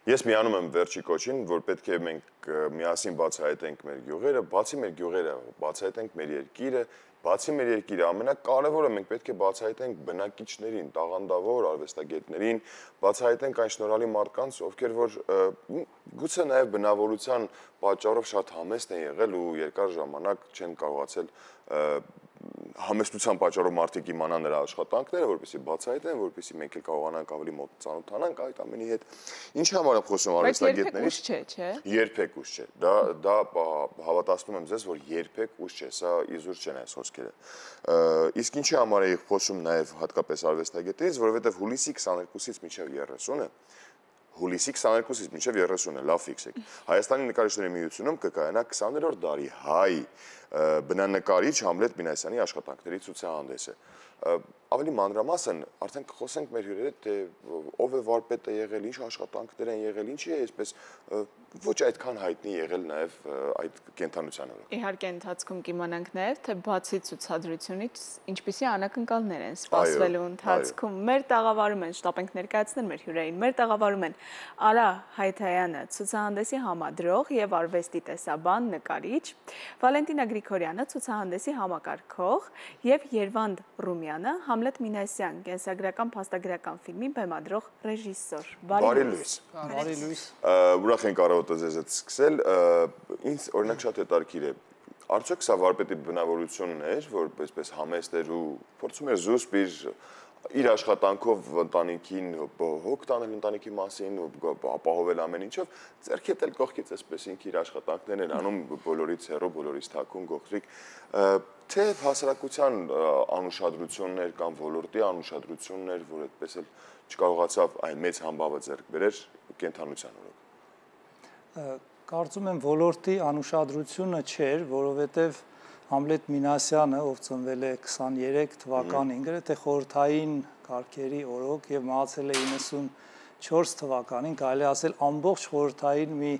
Ես միանում եմ վերջի կոչին, որ պետք է մենք միասին բացահայտենք մեր գյուղերը, բացի մեր գյուղերը, բացահայտենք մեր երկիրը, բացի մեր երկիրը, ամենակարևորը մենք պետք է բացահայտենք բնակիչներին, տաղանդավոր արվեստագետներին, բացահայտենք այն շնորհալի մարդկանց, ովքեր որ գուցե նաև բնավորության պատճառով շատ համեստ են եղել ու երկար ժամանակ չեն կարողացել համեստության պատճառով մարդիկ իմանան նրա աշխատանքները, որպեսզի բացահայտեն, որպեսզի մենք էլ կարողանանք ավելի մոտ ծանոթանանք այդ ամենի հետ։ Ինչի համար եմ խոսում արվեստագետներից։ Երբեք ուշ չէ, չէ։ Դա հավատացնում եմ ձեզ, որ երբեք ուշ չէ, սա իզուր չեն այս խոսքերը։ Իսկ ինչի համար էի խոսում նաև հատկապես արվեստագետներից, որովհետև հուլիսի 22-ից մինչև 30-ը հուլիսի 22-ից մինչև 30-ը, լավ ֆիքսեք։ Հայաստանի նկարիչների միությունում կկայանա 20-րդ դարի հայ բնանկարիչ Համլետ Մինասյանի աշխատանքների ցուցահանդեսը։ Ավելի մանրամասն արդեն կխոսենք մեր հյուրերի հետ, թե ով է վարպետը եղել, ինչ աշխատանքներ են եղել, ինչի է այսպես ոչ այդքան հայտնի եղել նաև այդ կենթանության օրոք։ Իհարկե ընթացքում կիմանանք նաև, թե բացի ցուցադրությունից ինչպիսի անակնկալներ են սպասվելու ընթացքում։ Մեր տաղավարում են, շտապ ենք ներկայացնել մեր հյուրերին, մեր տաղավարում են Արա Հայթայանը, ցուցահանդեսի համադրող եւ արվեստի տեսաբան, նկարիչ, Վալենտինա Գրիգորյանը, ցուցահանդեսի համակարգող եւ Երվանդ Ռումյանը, Համլետ Մինասյան, կենսագրական փաստագրական ֆիլմի բեմադրող ռեժիսոր։ Բարի լույս։ Բարի լույս։ Ուրախ ենք առավոտը ձեզ հետ սկսել։ Ինձ օրինակ շատ հետաքրքիր է։ Արդյոք սա վարպետի բնավորությունն էր, որ այսպես համեստ էր ու փորձում էր զուսպ իր աշխատանքով ընտանիքին հոգ տանել ընտանիքի մասին, ապահովել ամեն ինչով, ձեռքետ էլ կողքից այսպես ինքը իր աշխատանքներն են անում բոլորից հեռու, բոլորից թաքուն, գողտրիկ, թե հասարակության անուշադրություններ կամ ոլորտի անուշադրություններ, որ այդպես էլ չկարողացավ այն մեծ համբավը ձեռք բերել կենթանության օրոք։ Կարծում եմ ոլորտի անուշադրությունը չէր, որովհետև Համլետ Մինասյանը, ով ծնվել է 23 թվականին, գրեթե խորհրդային կարգերի օրոք եւ մահացել է 94 թվականին, կարելի ասել ամբողջ խորհրդային մի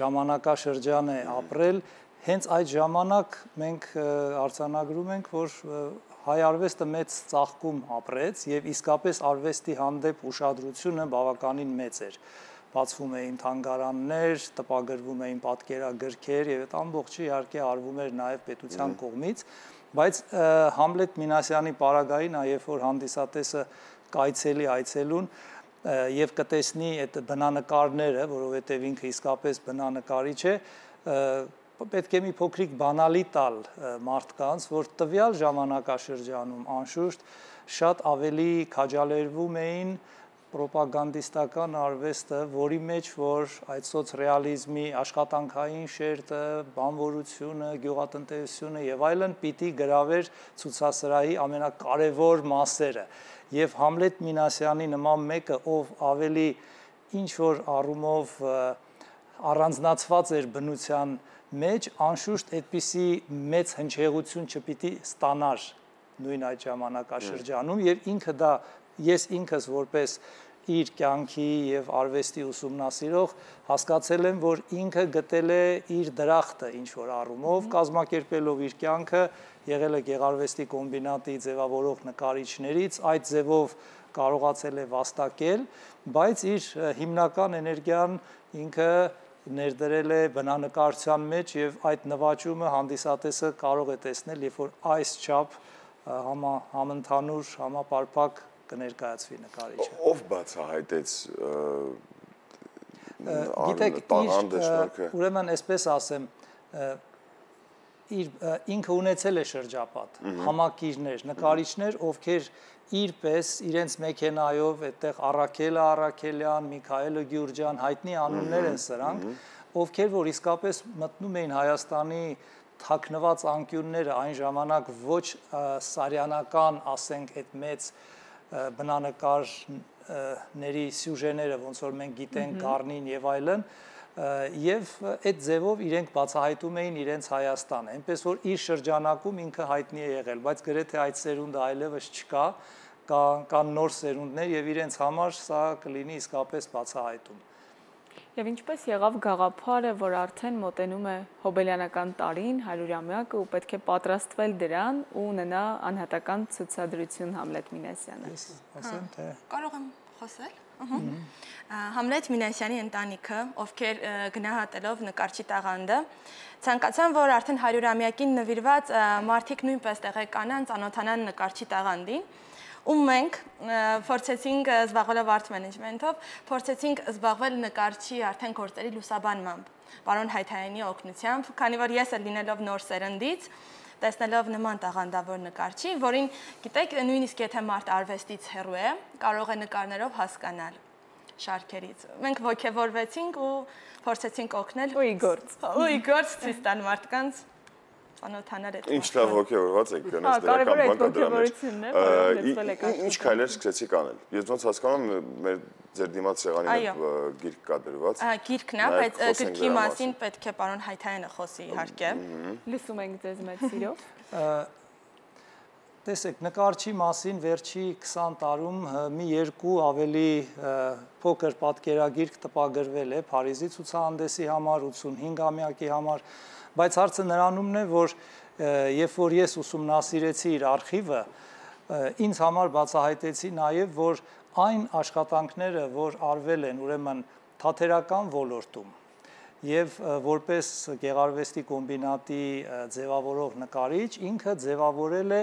ժամանակաշրջան է ապրել, հենց այդ ժամանակ մենք արձանագրում ենք, որ հայ արվեստը մեծ ծաղկում ապրեց եւ իսկապես արվեստի հանդեպ ուշադրությունը բավականին մեծ էր։ Բացվում էին թանգարաններ, տպագրվում էին պատկերագրքեր եւ այդ ամբողջը իհարկե արվում էր նաեւ պետության կողմից, բայց Համլետ Մինասյանի պարագային, երբ որ հանդիսատեսը կայցելի այցելուն եւ կտեսնի այդ բնանկարները, որովհետեւ ինքը իսկապես բնանկարիչ է, պետք է մի փոքրիկ բանալի տալ մարդկանց, որ տվյալ ժամանակաշրջանում անշուշտ շատ ավելի քաջալերվում էին պրոպագանդիստական արվեստը, որի մեջ որ այդ սոցռեալիզմի աշխատանքային շերտը, բանվորությունը, գյուղատնտեսությունը եւ այլն պիտի գրավեր ցուցասրահի ամենակարևոր մասերը։ Եվ Համլետ Մինասյանի նման մեկը, ով ավելի ինչ որ առումով առանձնացված էր բնության մեջ, անշուշտ այդպիսի մեծ հնչեղություն չպիտի ստանար նույն այդ ժամանակաշրջանում եւ ինքը դա ես ինքս որպես իր կյանքի եւ արվեստի ուսումնասիրող հասկացել եմ, որ ինքը գտել է իր դրախտը ինչ որ առումով, կազմակերպելով իր կյանքը, եղել է Գեղարվեստի կոմբինատի ձևավորող նկարիչներից, այդ ձևով կարողացել է վաստակել, բայց իր հիմնական էներգիան ինքը ներդրել է բնանկարչության մեջ եւ այդ նվաճումը հանդիսատեսը կարող է տեսնել, երբ որ այս չափ համընդհանուր, համապարփակ կներկայացվի նկարիչը։ Ով բացահայտեց գիտեք, ուրեմն այսպես ասեմ, ինքը ունեցել է շրջապատ, համակիրներ, նկարիչներ, ովքեր իրպես իրենց մեքենայով այդտեղ Առաքելը Առաքելյան, Միքայելը Գյուրջյան, հայտնի անուններ են սրանք, ովքեր որ իսկապես մտնում էին Հայաստանի թաքնված անկյունները այն ժամանակ ոչ սարյանական, ասենք, այդ մեծ բնանկարների սյուժեները, ոնց որ մենք գիտենք Գառնին եւ այլն, եւ այդ ձևով իրենք բացահայտում էին իրենց Հայաստանը, այնպես որ իր շրջանակում ինքը հայտնի է եղել, բայց գրեթե այդ սերունդը այլևս չկա, կան նոր սերունդներ եւ իրենց համար սա կլինի իսկապես բացահայտում։ Եվ ինչպես եղավ գաղափարը, որ արդեն մոտենում է հոբելյանական տարին, 100-ամյակը ու պետք է պատրաստվել դրան ու ունենա անհատական ցուցադրություն Համլետ Մինասյանը։ Ասեմ թե կարող եմ խոսել։ Համլետ Մինասյանի ընտանիքը, ովքեր գնահատելով նկարչի տաղանդը, ցանկացան, որ արդեն 100-ամյակին նվիրված մարդիկ նույնպես տեղեկանան, ծանոթանան նկարչի տաղանդին, ու մենք փորձեցինք զբաղվել art management-ով, փորձեցինք զբաղվել նկարչի արդեն գործերի լուսաբանմամբ, պարոն Հայթայանի օգնությամբ, քանի որ ես էլ լինելով նոր սերնդից, տեսնելով նման տաղանդավոր նկարչի, որին գիտեք, նույնիսկ եթե մարդ արվեստից հեռու է, կարող է նկարներով հասկանալ շարքերից։ Մենք ոգևորվեցինք ու փորձեցինք օգնել ու իգործ ցույց տալ մարդկանց ծանոթանալ այդ։ Ինչ լավ ոգևորված եք, գնաց դրական բան կա դրա մեջ։ Ինչ քայլեր սկսեցիք անել։ Ես ոնց հասկանում եմ, մեր ձեր դիմաց սեղանի գիրք կա դրված։ Գիրքն է, բայց գրքի մասին պետք է պարոն Հայթայանը խոսի իհարկե։ Լսում ենք ձեզ մեծ սիրով։ Տեսեք, նկարչի մասին վերջի 20 տարում մի երկու ավելի փոքր պատկերագիրք տպագրվել է Փարիզի ցուցահանդեսի համար, 85-ամյակի համար, բայց հարցը նրանումն է, որ երբ որ ես ուսումնասիրեցի իր արխիվը, ինձ համար բացահայտեցի նաև, որ այն աշխատանքները, որ արվել են ուրեմն թատերական ոլորտում եւ որպես գեղարվեստի կոմբինատի ձևավորող նկարիչ, ինքը ձևավորել է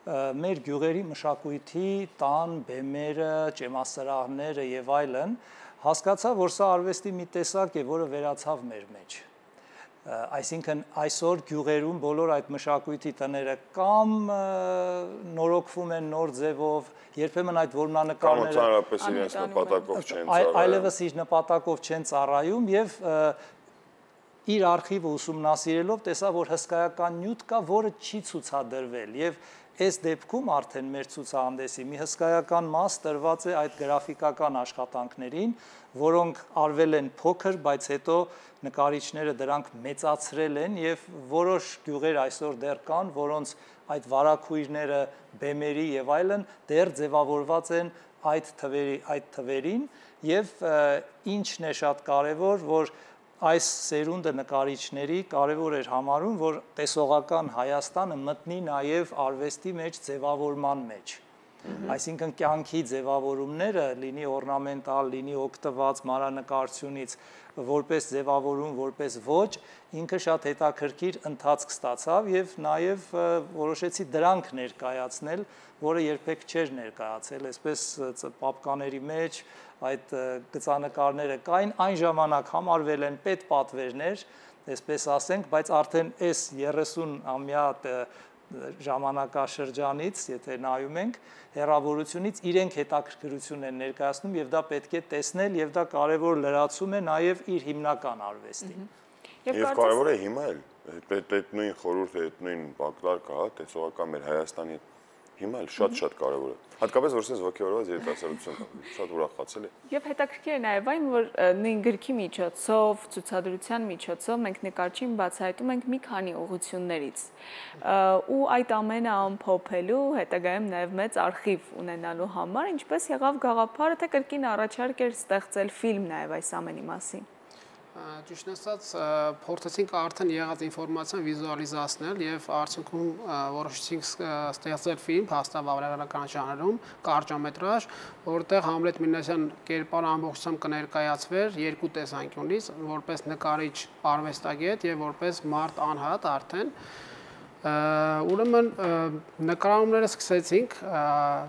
մեր գյուղերի մշակույթի տան, բեմերը, ճեմասրահները եւ այլն, հասկացա, որ սա արվեստի մի տեսակ է, որը վերացավ մեր մեջ։ Այսինքն այսօր գյուղերում բոլոր այդ մշակույթի տները կամ նորոգվում են նոր ձևով, երբեմն այդ որմնանկարները ծանրապես իրենց նպատակով չեն ծառայում, այլևս իր նպատակով չեն ծառայում եւ իր արխիվը ուսումնասիրելով տեսա, որ հսկայական նյութ կա, որը չի ցուցադրվել եւ այս դեպքում արդեն մեր ցուցահանդեսի մի հսկայական մաս տրված է այդ գրաֆիկական աշխատանքներին, որոնք արվել են փոքր, բայց հետո նկարիչները դրանք մեծացրել են եւ որոշ գյուղեր այսօր դեռ կան, որոնց այդ վարակույրները, բեմերի եւ այլն դեռ ձևավորված են այդ թվերին եւ ինչն է շատ կարեւոր, որ այս սերունդը նկարիչների կարևոր էր համարում, որ տեսողական Հայաստանը մտնի նաև արվեստի մեջ ձևավորման մեջ։ Այսինքն կյանքի ձևավորումները, լինի օրնամենտալ, լինի օգտված մանրանկարչությունից, որպես ձևավորում, որպես ոճ, ինքը շատ հետաքրքիր ընթացք ստացավ եւ նաև որոշեցի դրանք ներկայացնել, որը երբեք չէր ներկայացել, այսպես պապկաների մեջ այդ գծանկարները կային, այն ժամանակ համարվել են պետպատվերներ, այսպես ասենք, բայց արդեն այս 30-ամյա ժամանակաշրջանից, եթե նայում ենք, հեռավորությունից իրենք հետաքրքրություն են ներկայացնում եւ դա պետք է տեսնել եւ դա կարեւոր լրացում է նաեւ իր հիմնական արվեստին։ Եվ կարեւոր է հիմա էլ այդ նույն խորհուրդը, այդ նույն բակլարկը, հա, տեսողական մեր Հայաստանի հիմա էլ շատ կարևոր է։ Հատկապես որ sense ոգևորված երիտասարդություն կա, շատ ուրախացել է։ Եվ հետաքրքիր է նաև այն, որ նույն գրքի միջոցով, ցուցադրության միջոցով մենք նկարչին բացահայտում ենք մի քանի ուղղություններից։ Ու այդ ամենը ամփոփելու, հետագայում նաև մեծ արխիվ ունենալու համար, ինչպես եղավ գաղափարը, թե կրկին առաջարկ էր ստեղծել ֆիլմ նաև այս ամենի մասին։ Ճիշտ ասած, փորձեցինք արդեն եղած ինֆորմացիան վիզուալիզացնել եւ արդյունքում որոշեցինք ստեղծել ֆիլմ փաստավավերական ժանրում, կարճամետրաժ, որտեղ Համլետ Մինասյան կերպարը ամբողջությամբ կներկայացվեր երկու տեսանկյունից, որպես նկարիչ արվեստագետ եւ որպես մարդ անհատ արդեն։ Ուրեմն նկարահանումները սկսեցինք,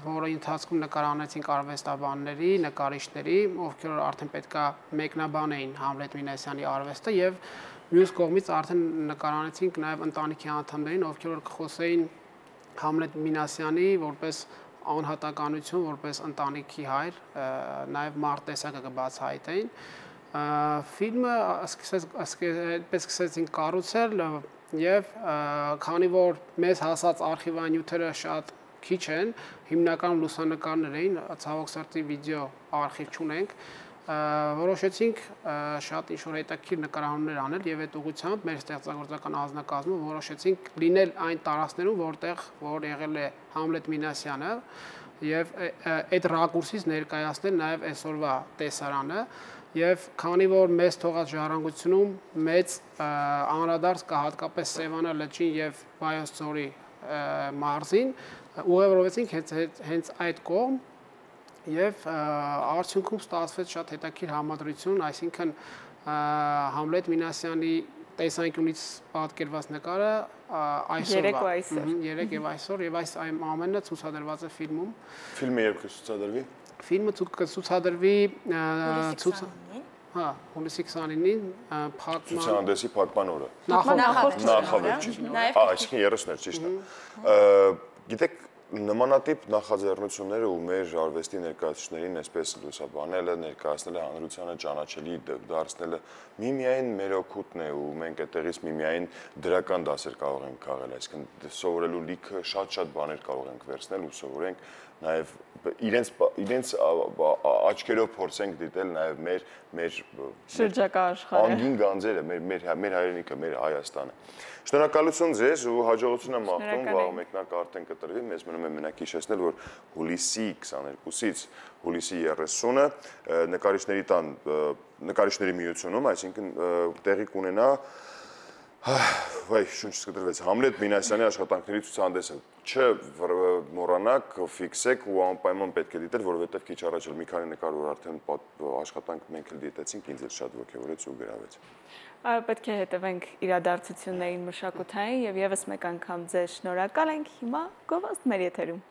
որը ընթացքում նկարահանեցինք արվեստաբանների, նկարիչների, ովքեր արդեն պետքա մեկնաբանեին Համլետ Մինասյանի արվեստը եւ մյուս կողմից արդեն նկարահանեցինք նաեւ ընտանիքի անդամներին, ովքեր որ կխոսեին Համլետ Մինասյանի որպես անհատականություն, որպես ընտանիքի հայր, նաեւ մարդ տեսակը կբացահայտեին։ Ֆիլմը սկսեցինք կառուցել Եվ քանի որ մեզ հասած արխիվային նյութերը շատ քիչ են, հիմնականում լուսանկարներ էին, ցավոք սրտի վիդեո արխիվ չունենք, որոշեցինք շատ ինչ-որ հետաքրքիր նկարահանումներ անել եւ այդ ուղղությամբ մեր ստեղծագործական անձնակազմը որոշեցինք լինել այն տարածքներում, որ եղել է Համլետ Մինասյանը եւ այդ ռակուրսից ներկայացնել նաեւ այսօրվա տեսարանը Եվ քանի որ մեզ թողած ժառանգությունում մեծ անդրադարձ կա հատկապես Սևանա լճին եւ Վայոց ձորի մարզին, ուղևորվեցինք հենց այդ կողմ Եվ արդյունքում ստացվեց շատ հետաքրքիր համադրություն, այսինքն Համլետ Մինասյանի տեսանկյունից պատկերված նկարը այսօրվա երեք եւ այսօր եւ այս ամենը ցուցադրված է ֆիլմում։ Ֆիլմը երբ կցուցադրվի։ Ֆիլմը կցուցադրվի հունիսի 29-ին փակման ցուցահանդեսի փակման օրը։ Նախավերջին։ Այսինքն 30-ներ, ճիշտ է։ Գիտեք, նմանատիպ նախաձեռնությունները ու մեր արվեստի ներկայացուցիչներին այսպես լուսաբանելը, ներկայացնելը, հանրությանը ճանաչելի դարձնելը միմիայն մեր օգուտն է ու մենք այդտեղից միմիայն դրական դասեր կարող ենք քաղել, այսինքն սովորելու լիքը շատ բաներ կարող ենք վերցնել ու սովորենք նաև իրենց աչքերով փորձենք դիտել նաև մեր շրջակա աշխարհը, անգին գանձերը, մեր հայրենիքը, մեր Հայաստանը։ Շնորհակալություն ձեզ ու հաջողություն եմ մաղթում, վաղ մեկնակ արդեն կտրվի, մեզ մնում է մենակ հիշեցնել, որ հուլիսի 22-ից հուլիսի 30-ը նկարիչների միությունում, այսինքն տեղի կունենա շունչս կտրվեց Համլետ Մինասյանի աշխատանքների ցուցահանդեսը։ Չմոռանաք, ֆիքսեք ու անպայման պետք է դիտել, որովհետև քիչ առաջ էլ մի քանի նկար որ արդեն աշխատանք մենք էլ դիտեցինք, ինձ էլ շատ ոգևորեց ու գրավեց։ Այո, պետք է հետևենք իրադարձություններին մշակութային եւ եւս մեկ անգամ ձեզ շնորհակալ ենք։ Հիմա գովազդ մեր եթերում։